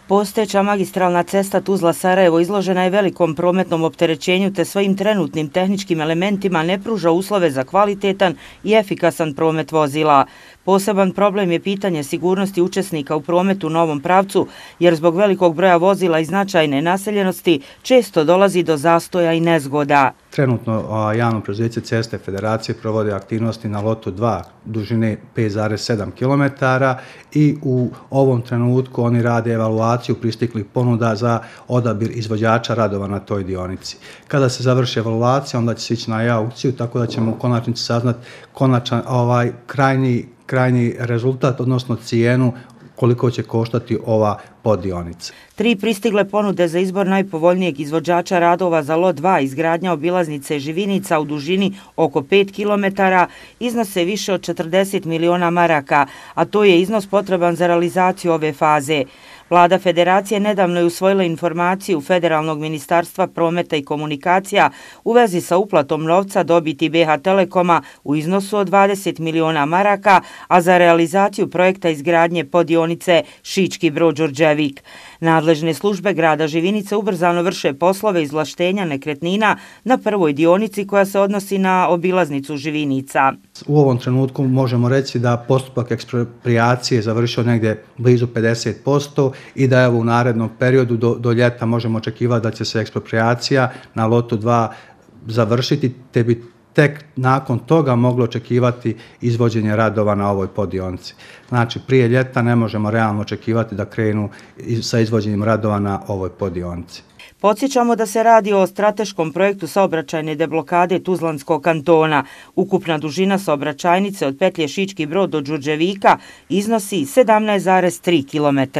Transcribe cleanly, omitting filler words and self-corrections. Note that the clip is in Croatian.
Postojeća magistralna cesta Tuzla-Sarajevo izložena je velikom prometnom opterećenju te svojim trenutnim tehničkim elementima ne pruža uslove za kvalitetan i efikasan promet vozila. Poseban problem je pitanje sigurnosti učesnika u prometu u novom pravcu, jer zbog velikog broja vozila i značajne naseljenosti često dolazi do zastoja i nezgoda. Trenutno javno preduzeće Ceste Federacije provode aktivnosti na lotu 2 dužine 5,7 km i u ovom trenutku oni rade evaluaciju pristiglih ponuda za odabir izvođača radova na toj dionici. Kada se završi evaluacija, onda će se ići na aukciju, tako da ćemo u konačnici saznati konačan krajnji rezultat, odnosno cijenu koliko će koštati ova poddionica. 3 pristigle ponude za izbor najpovoljnijeg izvođača radova za lot 2 izgradnja obilaznice Živinica u dužini oko 5 km iznose više od 40 miliona maraka, a to je iznos potreban za realizaciju ove faze. Vlada Federacije nedavno je usvojila informaciju Federalnog ministarstva prometa i komunikacija u vezi sa uplatom novca dobiti BH Telekoma u iznosu od 20 miliona maraka, a za realizaciju projekta izgradnje poddionice Šički Brod-Đurđevik. Nadležne službe grada Živinice ubrzano vrše poslove izvlaštenja nekretnina na prvoj dionici koja se odnosi na obilaznicu Živinica. U ovom trenutku možemo reći da postupak eksproprijacije završio negdje blizu 50% i da je u narednom periodu do ljeta možemo očekivati da će se eksproprijacija na lotu 2 završiti, te bi tek nakon toga moglo očekivati izvođenje radova na ovoj poddionici. Znači, prije ljeta ne možemo realno očekivati da krenu sa izvođenjem radova na ovoj poddionici. Podsjećamo da se radi o strateškom projektu saobraćajne deblokade Tuzlanskog kantona. Ukupna dužina saobraćajnice od petlje Šički Brod do Đurđevika iznosi 17,3 km.